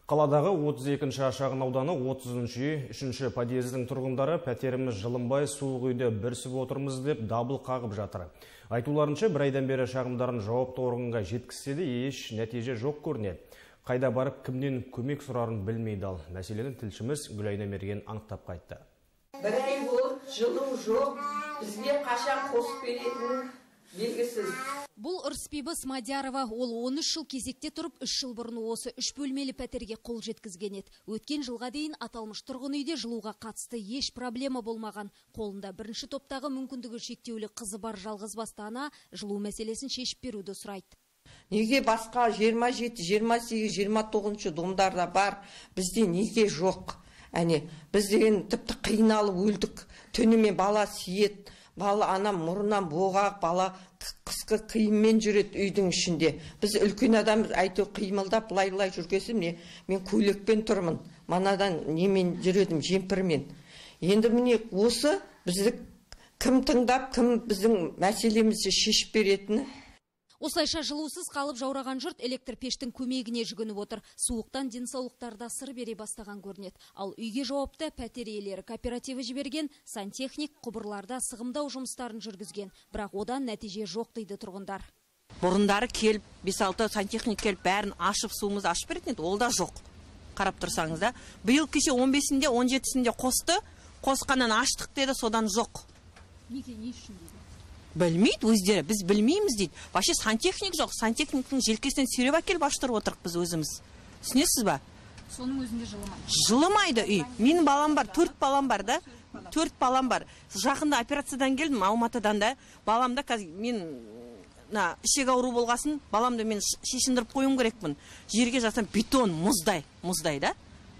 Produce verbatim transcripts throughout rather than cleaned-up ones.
Қаладағы отыз екінші шағын ауданы отызыншы үй, үшінші подъездің тұрғындары пәтеріміз жылынбай суық үйде бүрісіп отырмыз деп дабыл қағып жатыр. Айтуларынша бір айдан бері шағымдарын жауапты органға жеткізсе де еш нәтиже жоқ көрінеді. Қайда барып кімнен көмек сұрарын білмейді ал. Мәселені тілшіміз Гүлайна Мерген анықтап қайтты. Бір ай болып жылу жоқ, бізге қашан қосып беретіні белгісіз. Бұл Ырысбибі Смадярова, ол он үш жыл кезекте тұрып, үш жыл бұрын осы үш бөлмелі пәтерге қол жеткізген еді. Өткен жылға дейін аталмыш тұрғын үйде жылуға қатысты еш проблема болмаған. Қолында бірінші топтағы мүмкіндігі шектеулі қызы бар жалғыз басты ана жылу мәселесін шешіп беруді сұрайды. Неге басқа жиырма жеті, жиырма сегіз, жиырма тоғызыншы домдарда бар, бізде неге жоқ? Әне, біз деген тіпті қиналып өлдік. Түнімен бала сиет, бала анам мұрыннан боғақ, бала қысқы қиыммен жүреді үйдің ішінде. Біз үлкен адам әйтеу қимылдап лай-лай жүргесім не, мен көйлекпен тұрмын. Манадан немен жүредім, жемпірмен. Енді міне осы бізді кім тыңдап, кім біздің мәселемізді шешіп беретіні. Осылайша жылусыз қалып жаураған жұрт электр пештің көмегіне жүгініп отыр. Суықтан денсаулықтарда сыр бере бастаған көрінеді. Ал үйге жауапты пәтер иелері кооперативі жіберген сантехник құбырларда сығымдау жұмыстарын жүргізген. Бірақ одан нәтиже жоқ дейді тұрғындар. Бұрындары келіп, бес алты сантехник келіп, бәрін ашып, суымызды ашып беретін еді, ол да жоқ. Қарап тұрсаңыз да. Биыл кеше он бесінде, он жетісінде қосты, қосқаннан аштық деді, содан жоқ. Неге, не үшін дейді? Білмейді өздері, біз білмейміз дейді. Вообще сантехник жоқ, сантехниктің желкесінен сүйреп әкеліп аштырып отырық біз өзіміз. Түсінесіз ба? Соның өзінде жылымайды. Жылымайды үй. Менің балам бар, төрт балам бар да. Төрт балам бар. Жақында операциядан келдім, Алматыдан да. Баламда қазір мен ішек ауру болғасын, баламды мен шешіндіріп қойым керекпін. Жерге жатсам бетон, мұздай, мұздай да.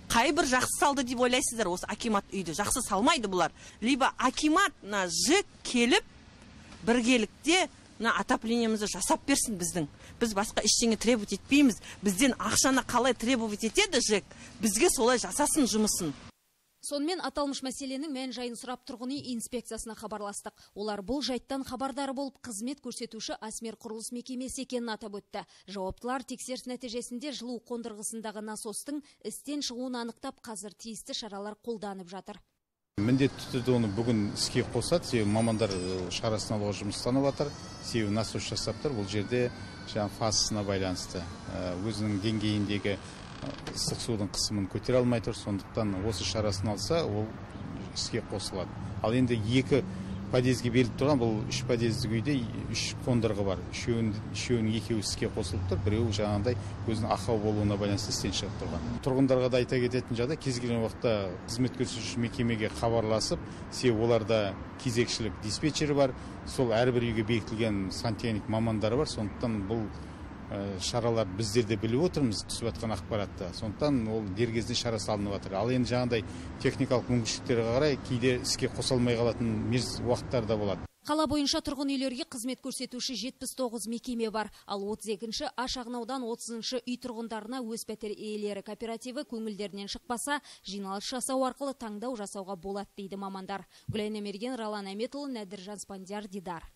Қай бір жақсы салды деп ойлайсыздар, осы акимат үйді. Жақсы салмайды бұлар. Либо акимат ЖЭК келіп біргелікте отоплениемізді жасап берсін біздің. Біз басқа ештеңе требовать етпейміз. Бізден ақшаны қалай требовать етеді ЖЭК, бізге солай жасасын жұмысын. Сонымен аталмыш мәселенің мән жайын сұрап тұрғын үй инспекциясына хабарластық. Олар бұл жайттан хабардары болып қызмет көрсетуші Асмер құрылыс мекемесі екенін атап өтті. Жауаптылар тексеріс нәтижесінде жылу қондырғысындағы насостың істен шығуын анықтап, қазір тиісті шаралар қолданып жатыр. Міндетті түрде оны бүгін іске қосады, себебі мамандар шарасын алуға жұмыстанып жатыр, себебі насос жасап тұр, бұл жерде фазасына байланысты өзінің деңгейіндегі ыстық судың қысымын көтере алмай тұр, сондықтан осы шарасын алса, ол іске қосылады. Ал енді екі подъезге беріліп тұрған, бұл үш подъездік үйде үш қондырғы бар. Үшеуінің екеуі іске қосылып тұр, біреуі жаңағындай өзінің ақау болуына байланысты істен шығып тұрған. Тұрғындарға да айта кететін жағдай, кез келген уақытта қызмет көрсетуші мекемеге хабарласып, себебі оларда кезекшілік диспетчері бар, сол әрбір үйге бекітілген сантехник мамандары бар, сондықтан бұл шаралар біздер де біліп отырмыз, түсіп жатқан ақпаратта. Сондықтан ол дер кезінде шара салынып жатыр. Ал енді жаңағындай техникалық мүмкіншіліктерге қарай кейде іске қосылмай қалатын уақыттар да болады. Қала бойынша тұрғын үйлерге қызмет көрсетуші жетпіс тоғыз мекеме бар, ал отыз екінші шағынаудан отызыншы үй тұрғындарына өз пәтер иелері кооперативі көңілдерінен шықпаса, жиналыс жасау арқылы таңдау жасауға болады дейді мамандар. Гүлайна Мерген, Ралан Әметұлы, Нәдіржан Спандияр, Дидар.